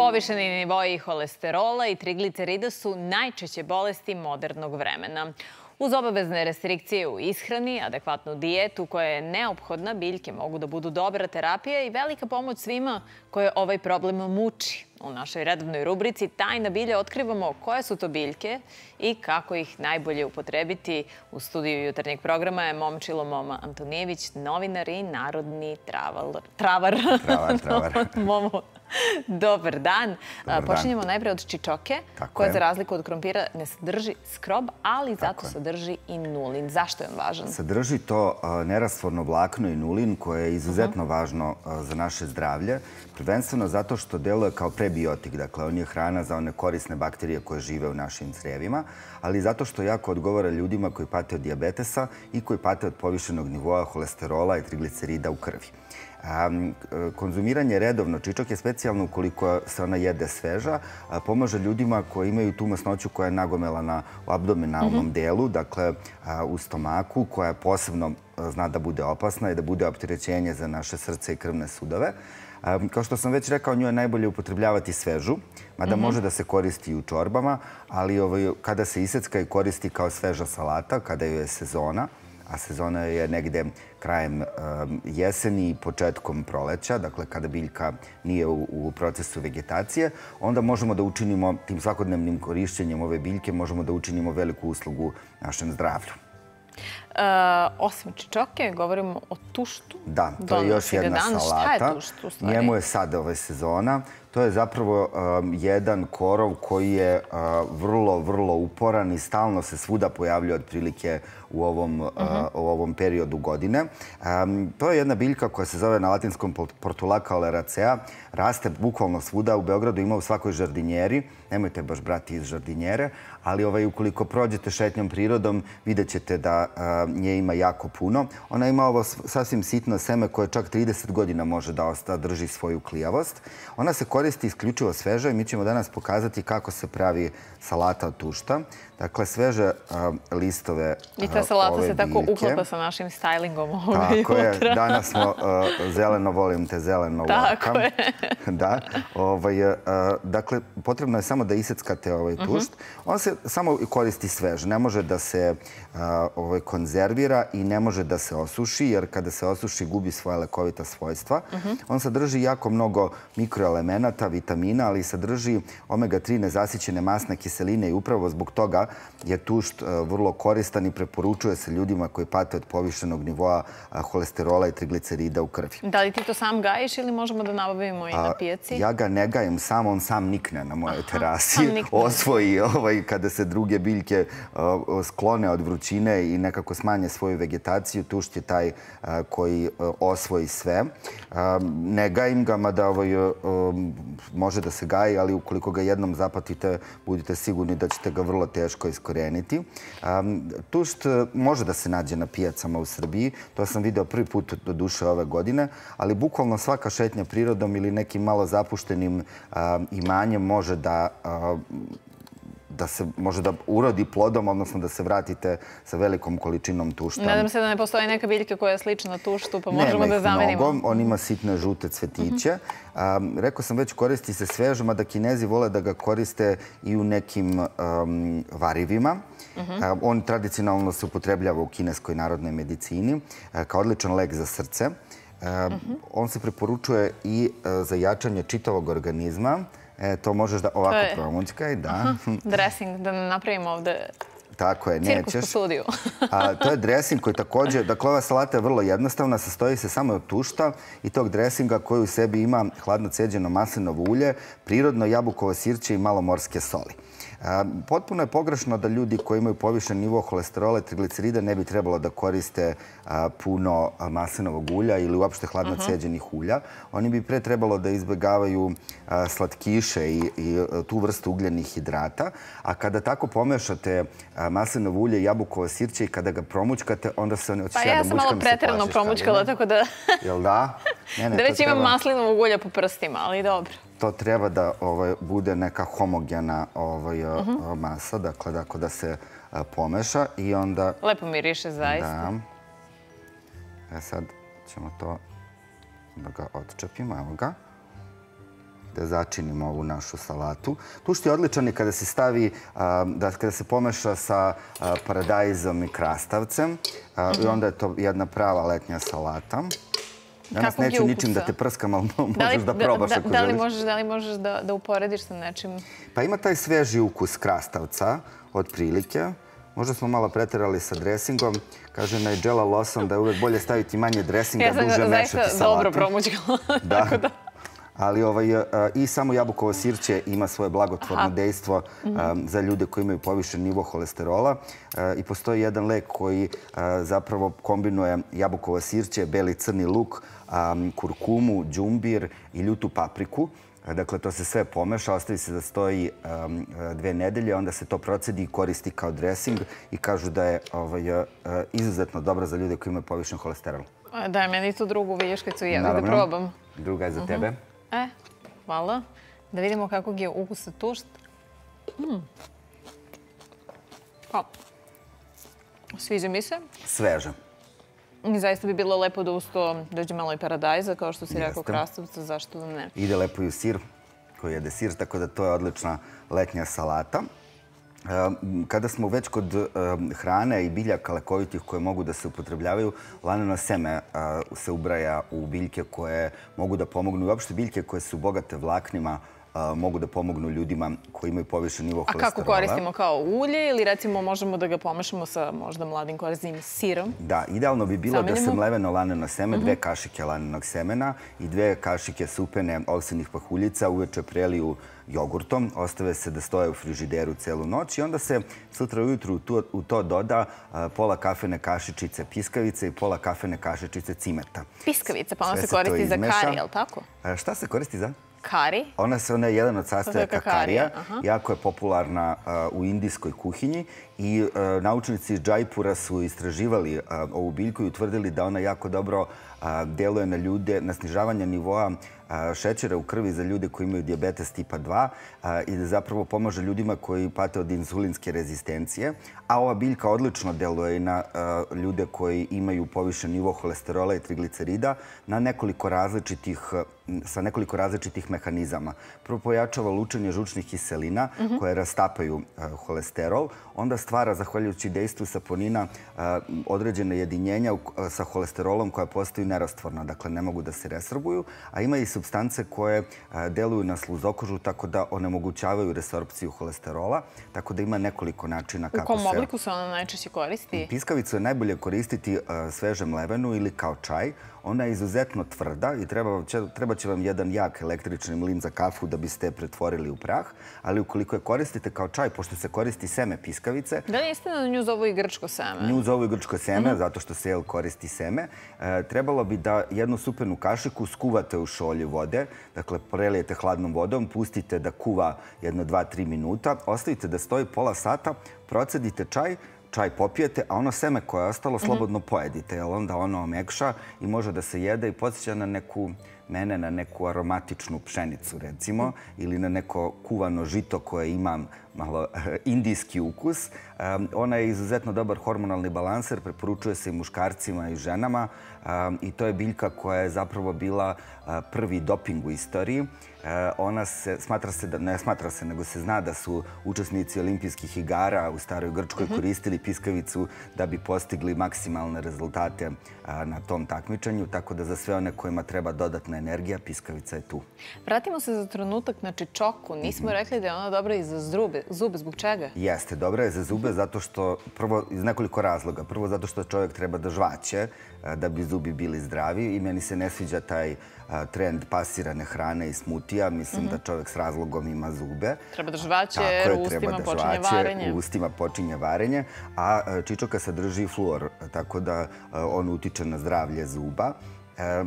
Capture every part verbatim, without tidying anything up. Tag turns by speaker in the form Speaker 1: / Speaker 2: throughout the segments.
Speaker 1: Povišeni nivoi holesterola i triglicerida su najčešće bolesti modernog vremena. Uz obavezne restrikcije u ishrani, adekvatnu dijetu koja je neophodna, biljke mogu da budu dobra terapija i velika pomoć svima koje ovaj problem muči. U našoj redovnoj rubrici Tajna bilja otkrivamo koje su to biljke i kako ih najbolje upotrebiti. U studiju jutarnjeg programa je Momčilo Moma Antonijević, novinar i narodni travar. Travar,
Speaker 2: travar.
Speaker 1: Momo, dobar dan. Počinjemo najprej od čičoke, koja za razliku od krompira ne sadrži skrob, ali zato sadrži i nulin. Zašto je on važan?
Speaker 2: Sadrži to nerastvorno vlakno i nulin koje je izuzetno važno za naše zdravlje. Prvenstveno zato što deluje kao prebiotik, dakle on je hrana za one korisne bakterije koje žive u našim crevima, ali zato što jako odgovara ljudima koji pate od dijabetesa i koji pate od povišenog nivoa holesterola i triglicerida u krvi. Konzumiranje redovno čičoke, specijalno ukoliko se ona jede sveža, pomaže ljudima koji imaju tu masnoću koja je nagomelana u abdominalnom delu, dakle u stomaku, koja posebno zna da bude opasna i da bude opterećenje za naše srce i krvne sudove. Kao što sam već rekao, nju je najbolje upotrebljavati svežu, mada može da se koristi i u čorbama, ali kada se isecka i koristi kao sveža salata, kada je sezona, a sezona je negde krajem jeseni i početkom proleća, dakle kada biljka nije u procesu vegetacije, onda možemo da učinimo tim svakodnevnim korišćenjem ove biljke, možemo da učinimo veliku uslugu našem zdravlju.
Speaker 1: Osim čičoke, govorimo o tuštu.
Speaker 2: Da, to je još jedna salata.
Speaker 1: Šta je tušt u stvari?
Speaker 2: Njemu je sad ove sezona. To je zapravo jedan korov koji je vrlo, vrlo uporan i stalno se svuda pojavljuje otprilike u ovom periodu godine. To je jedna biljka koja se zove na latinskom Portulaca oleracea. Raste bukvalno svuda. U Beogradu ima u svakoj žardinjeri. Nemojte baš brati iz žardinjere, ali ukoliko prođete šetnjom prirodom, vidjet ćete da nje ima jako puno. Ona ima ovo sasvim sitno seme koje čak trideset godina može da drži svoju klijavost. Ona se koristi isključivo sveže i mi ćemo danas pokazati kako se pravi salata od tušta. Dakle, sveže listove ove biljke.
Speaker 1: I ta salata se tako uklapa sa našim stajlingom ovoga jutra.
Speaker 2: Tako je. Danas smo zeleno volim te, zeleno lakam.
Speaker 1: Tako je.
Speaker 2: Da. Dakle, potrebno je samo da iseckate ovaj tušt. On se samo koristi svež. Ne može da se konzervira i ne može da se osuši, jer kada se osuši gubi svoja lekovita svojstva. On sadrži jako mnogo mikroelemenata, vitamina, ali sadrži omega tri nezasićene masne kiseline i upravo zbog toga je tušt vrlo koristan i preporučuje se ljudima koji pate od povišenog nivoa holesterola i triglicerida u krvi.
Speaker 1: Da li ti to sam gajiš ili možemo da nabavimo i na pijaci?
Speaker 2: Ja ga ne gajem sam, on sam nikne na mojoj terasi. Osvoji kada se druge biljke sklone od vrućine i nekako smanje svoju vegetaciju. Tušt je taj koji osvoji sve. Ne gajim ga, mada može da se gaji, ali ukoliko ga jednom zapatite, budite sigurni da ćete ga vrlo teško iskoreniti. Tušt može da se nađe na pijacama u Srbiji. To sam video prvi put do duše ove godine, ali bukvalno svaka šetnja prirodom ili nekim malo zapuštenim imanjem može da da se može da urodi plodom, odnosno da se vratite sa velikom količinom tušta.
Speaker 1: Nadam se da ne postoji neka biljka koja je slična tuštu, pa možemo da zamenimo.
Speaker 2: Nema ih mnogo. On ima sitne žute cvetiće. Rekao sam već, koristi se sveže, mada Kinezi vole da ga koriste i u nekim varivima. On tradicionalno se upotrebljava u kineskoj narodnoj medicini kao odličan lek za srce. On se preporučuje i za jačanje čitavog organizma. To možeš da ovako promućkaj, da.
Speaker 1: Dresing, da napravimo ovde
Speaker 2: Tako je, nećeš.
Speaker 1: Cirkus po studiju.
Speaker 2: To je dresing koji također, dakle ova salata je vrlo jednostavna, sastoji se samo od tušta i tog dresinga koji u sebi ima hladno ceđeno maslinovo ulje, prirodno jabukovo sirće i malo morske soli. Potpuno je pogrešno da ljudi koji imaju povišen nivo holesterola i triglicerida ne bi trebalo da koriste puno maslinovog ulja ili uopšte hladno ceđenih ulja. Oni bi pre trebalo da izbjegavaju slatkiše i tu vrstu ugljenih hidrata. A kada tako pomešate maslinovo ulje i jabukovo sirće i kada ga promućkate, onda se ne očiša da mućkam se plašiš.
Speaker 1: Pa ja sam malo pretjerano promućkala, tako da...
Speaker 2: Jel da?
Speaker 1: Da već imam maslinovog ulja po prstima, ali dobro.
Speaker 2: To treba da bude neka homogena masa, dakle da se pomeša i onda...
Speaker 1: Lepo miriše, zaista.
Speaker 2: Da. E sad ćemo to da ga odčepimo, evo ga. da začinimo ovu našu salatu. Tušt je odličan i kada se stavi, kada se pomeša sa paradajzom i krastavcem. I onda je to jedna prava letnja salata. Danas neću ničim da te prskam, ali možeš da probaš ako želiš.
Speaker 1: Da li možeš da uporediš sa nečim?
Speaker 2: Pa ima taj sveži ukus krastavca, otprilike. Možda smo malo preterali sa dresingom. Kaže Nigella Lawson da je uvek bolje staviti manje dresinga, duže mešati salatu.
Speaker 1: Ja sam zaista dobro promućkala.
Speaker 2: Da. Ali i samo jabukovo sirće ima svoje blagotvorno dejstvo za ljude koji imaju povišen nivo holesterola. I postoji jedan lek koji zapravo kombinuje jabukovo sirće, beli crni luk, kurkumu, džumbir i ljutu papriku. Dakle, to se sve pomeša, ostavi se da stoji dve nedelje, onda se to procedi i koristi kao dresing i kažu da je izuzetno dobro za ljude koji imaju povišen holesterol.
Speaker 1: Daj meni tu drugu vilješkicu i ja da probam.
Speaker 2: Druga je za tebe.
Speaker 1: E, hvala. Da vidimo kakvog je ukusa tušt. Sviđa mi se.
Speaker 2: Sveže.
Speaker 1: Zaista bi bilo lepo da uz to dođe malo i paradajza, kao što si rekao, krastavca, zašto da ne.
Speaker 2: Ide lepo i u sir, koji jede sir, tako da to je odlična letnja salata. Kada smo već kod hrane i biljaka lekovitih koje mogu da se upotrebljavaju, laneno seme se ubraja u biljke koje mogu da pomognu i uopšte biljke koje su bogate vlaknima mogu da pomognu ljudima koji imaju povišen nivo holesterola.
Speaker 1: A kako koristimo, kao ulje ili recimo možemo da ga pomešamo sa možda mladim koriznim sirom?
Speaker 2: Da, idealno bi bilo da se mleveno laneno seme, dve kašike lanenog semena i dve kašike supene ovsenih pahuljica uveče preliju jogurtom, ostave se da stoje u frižideru celu noć i onda se sutra ujutru u to doda pola kafene kašičice piskavice i pola kafene kašičice cimeta.
Speaker 1: Piskavica, pa ona se koristi za kari, je li tako?
Speaker 2: Šta se koristi za?
Speaker 1: Kari.
Speaker 2: Ona je jedan od sastojaka karija. Jako je popularna u indijskoj kuhinji i naučnici iz Džajpura su istraživali ovu biljku i utvrdili da ona jako dobro deluje na ljude, na snižavanje nivoa šećera u krvi za ljude koji imaju dijabetes tipa dva i da zapravo pomaže ljudima koji pate od inzulinske rezistencije. A ova biljka odlično deluje i na ljude koji imaju povišen nivo holesterola i triglicerida na nekoliko različitih, sa nekoliko različitih mehanizama. Prvo pojačava lučenje žučnih kiselina koje rastapaju holesterol. Onda stvara, zahvaljujući dejstvu saponina, određene jedinjenja sa holesterolom koja postaju nerastvorna. Dakle, ne mogu da se resorbuju. A ima i supstance koje deluju na sluzokožu tako da onemogućavaju resorpciju holesterola. Tako da ima nekoliko načina kako se...
Speaker 1: U kom obliku se ona najčešće koristi?
Speaker 2: Piskavicu je najbolje koristiti sveže mlevenu ili kao čaj. Ona je izuzetno tvrda i treba će vam jedan jak električni mlin za kafu da biste je pretvorili u prah. Ali ukoliko je koristite kao čaj, pošto se koristi seme piskavice...
Speaker 1: Da li je istina da nju zovu i grčko seme?
Speaker 2: Nju zovu i grčko seme, zato što se koristi seme. Trebalo bi da jednu supenu kašiku skuvate u šolju vode. Dakle, prelijete hladnom vodom, pustite da kuva jedno dva tri minuta, ostavite da stoji pola sata, procedite čaj, čaj popijete, a ono seme koje je ostalo slobodno pojedite, jer onda ono omekša i može da se jede i podsjeća na neku, mene na neku aromatičnu pšenicu, recimo, ili na neko kuvano žito koje ima malo indijski ukus. Ona je izuzetno dobar hormonalni balanser, preporučuje se i muškarcima i ženama i to je biljka koja je zapravo bila prvi doping u istoriji. Ona se, smatra se, ne smatra se, nego se zna da su učesnici olimpijskih igara u staroj Grčkoj koristili piskavicu da bi postigli maksimalne rezultate na tom takmičenju, tako da za sve one kojima treba dodatna energija, piskavica je tu.
Speaker 1: Vratimo se za trenutak na čičoku. Nismo rekli da je ona dobra i za zube. Zube, zbog čega?
Speaker 2: Jeste, dobra je za zube zato što, prvo, iz nekoliko razloga. Prvo, zato što čovjek treba da žvaće da bi zubi bili zdravi i meni se ne sviđa taj trend pasirane hrane i smutija. Mislim da čovjek s razlogom ima zube.
Speaker 1: Treba da žvaće, jer u ustima počinje varenje.
Speaker 2: U ustima počinje varenje, a čičoka sadrži fluor, tako da on utiče na zdravlje zuba.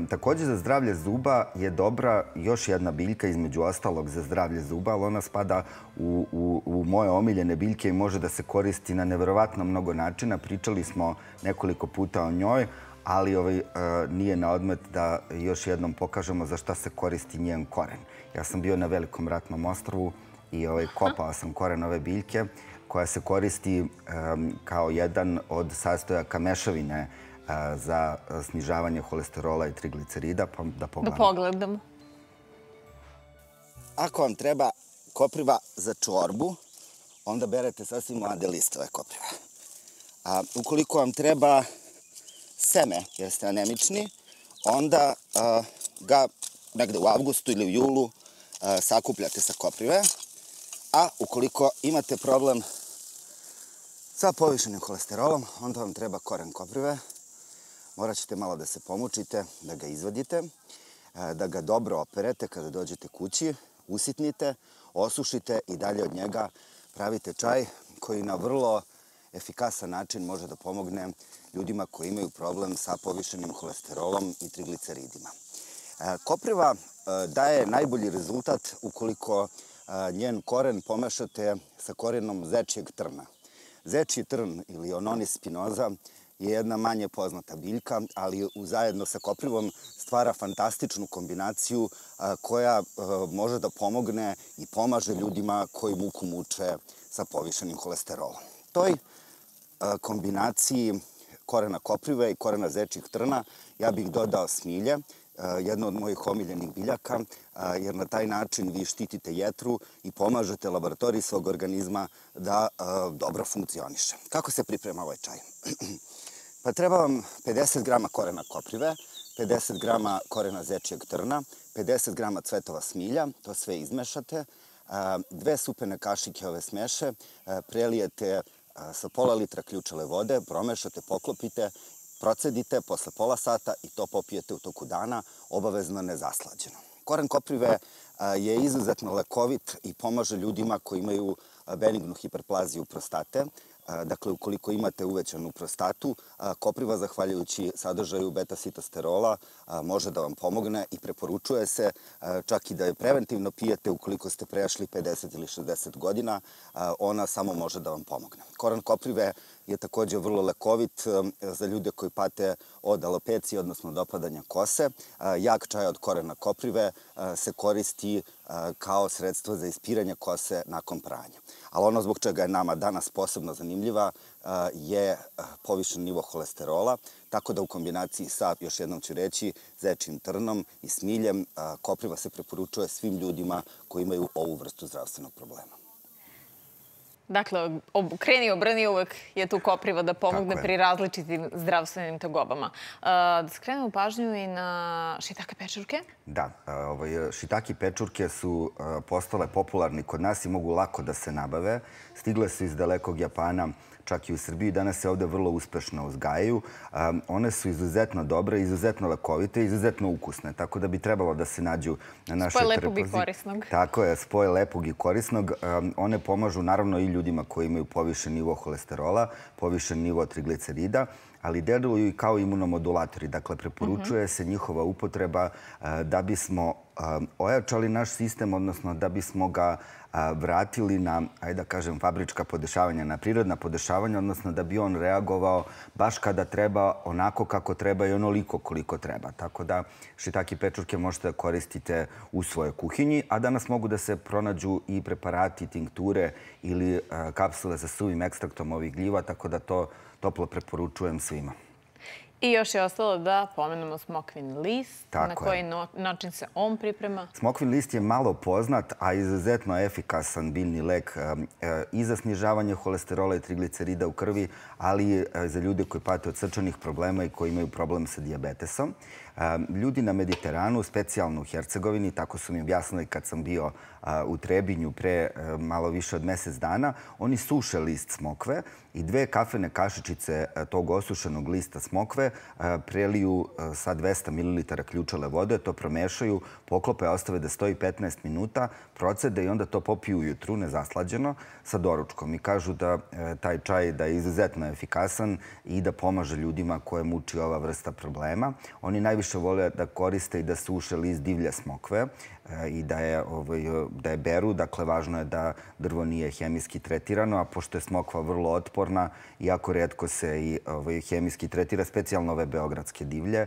Speaker 2: Također za zdravlje zuba je dobra još jedna biljka, između ostalog za zdravlje zuba, ali ona spada u moje omiljene biljke i može da se koristi na neverovatno mnogo načina. Pričali smo nekoliko puta o njoj, ali nije na odmet da još jednom pokažemo za šta se koristi njen koren. Ja sam bio na Velikom ratnom ostrvu i kopao sam koren ove biljke koja se koristi kao jedan od sastojaka mešavine za snižavanje holesterola i triglicerida, pa da pogledamo.
Speaker 1: Da pogledamo.
Speaker 2: ako vam treba kopriva za čorbu, onda berete sasvim mlade listove kopriva. A ukoliko vam treba seme, jer ste anemični, onda ga negde u avgustu ili u julu sakupljate sa koprive. A ukoliko imate problem sa povišenim holesterolom, onda vam treba koren koprive. Morat ćete malo da se pomučite, da ga izvadite, da ga dobro operete kada dođete kući, usitnite, osušite i dalje od njega pravite čaj koji na vrlo efikasan način može da pomogne ljudima koji imaju problem sa povišenim holesterolom i trigliceridima. Kopriva daje najbolji rezultat ukoliko njen koren pomešate sa korenom zečijeg trna. Zečji trn ili Ononis spinoza je jedna manje poznata biljka, ali zajedno sa koprivom stvara fantastičnu kombinaciju koja može da pomogne i pomaže ljudima koji muku muče sa povišenim holesterolom. Toj kombinaciji korena koprive i korena zečjeg trna ja bih dodao smilje, jedno od mojih omiljenih biljaka, jer na taj način vi štitite jetru i pomažete laboratoriji svog organizma da dobro funkcioniše. Kako se priprema ovaj čaj? Pa treba vam pedeset grama korena koprive, pedeset grama korena zečjeg trna, pedeset grama cvetova smilja, to sve izmešate, dve supene kašike ove smeše, prelijete sa pola litra ključale vode, promešate, poklopite, procedite posle pola sata i to popijete u toku dana, obavezno nezaslađeno. Koren koprive je izuzetno lekovit i pomaže ljudima koji imaju benignu hiperplaziju prostate. Dakle, ukoliko imate uvećanu prostatu, kopriva, zahvaljujući sadržaju beta-sitosterola, može da vam pomogne i preporučuje se čak i da je preventivno pijete ukoliko ste prešli pedeset ili šezdeset godina, ona samo može da vam pomogne. Koren koprive je takođe vrlo lekovit za ljude koji pate od alopecije, odnosno od opadanja kose. Jak čaj od korena koprive se koristi kao sredstvo za ispiranje kose nakon pranja. Ali ono zbog čega je nama danas posebno zanimljiva je povišen nivo holesterola, tako da u kombinaciji sa, još jednom ću reći, zečjim trnom i smiljem, kopriva se preporučuje svim ljudima koji imaju ovu vrstu zdravstvenog problema.
Speaker 1: Dakle, kreni obrni, uvek je tu kopriva da pomogne pri različitim zdravstvenim tegobama. Da skrenemo pažnju i na šitake pečurke?
Speaker 2: Da, šitaki pečurke su postale popularni kod nas i mogu lako da se nabave. Stigle su iz dalekog Japana, čak i u Srbiji. Danas se ovde vrlo uspešno uzgajaju. One su izuzetno dobre, izuzetno lekovite i izuzetno ukusne, tako da bi trebalo da se nađu na našoj
Speaker 1: trpezi. Spoj lepog i korisnog.
Speaker 2: Tako je, spoj lepog i korisnog. One pomažu naravno i ljudima koji imaju povišen nivo holesterola, povišen nivo triglicerida, ali deluju i kao imunomodulatori. Dakle, preporučuje se njihova upotreba da bismo ojačali naš sistem, odnosno da bismo ga vratili na, ajde da kažem, fabrička podešavanja, na prirodna podešavanja, odnosno da bi on reagovao baš kada treba, onako kako treba i onoliko koliko treba. Tako da šitaki pečurke možete da koristite u svojoj kuhinji, a danas mogu da se pronađu i preparati, tinkture ili kapsule sa suvim ekstraktom ovih gljiva, tako da to toplo preporučujem svima.
Speaker 1: I još je ostalo da pomenemo smokvin list. Na koji način se on priprema?
Speaker 2: Smokvin list je malo poznat, a izuzetno efikasan biljni lek i za snižavanje holesterola i triglicerida u krvi, ali i za ljude koji pate od srčanih problema i koji imaju problem sa dijabetesom. Ljudi na Mediteranu, specijalno u Hercegovini, tako su mi objasnili kad sam bio u Trebinju pre malo više od mesec dana, oni suše list smokve i dve kafene kašičice tog osušenog lista smokve preliju sa dvesta mililitara ključale vode, to promešaju, poklope, ostave da stoji petnaest minuta, procede i onda to popiju ujutru, nezaslađeno, sa doručkom. I kažu da taj čaj da je izuzetno efikasan i da pomaže ljudima koje muči ova vrsta problema. Oni najviše vole da koriste i da suše list divlje smokve i da je beru. Dakle, važno je da drvo nije hemijski tretirano, a pošto je smokva vrlo otporna, jako retko se i hemijski tretira, specijalno ove beogradske divlje.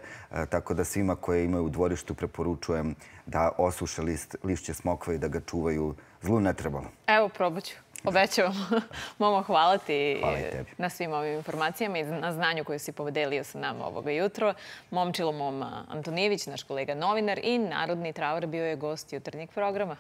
Speaker 2: Tako da svima koje imaju u dvorištu preporučujem da osuše lišće smokve i da ga čuvaju. Zlu ne trebalo.
Speaker 1: Evo, probat ću. Obećavam. Momo, hvala ti na svim ovim informacijama i na znanju koju si podelio sa nama ovoga jutro. Momčilo Mom Antonijević, naš kolega novinar i narodni travar, bio je gost jutarnjeg programa.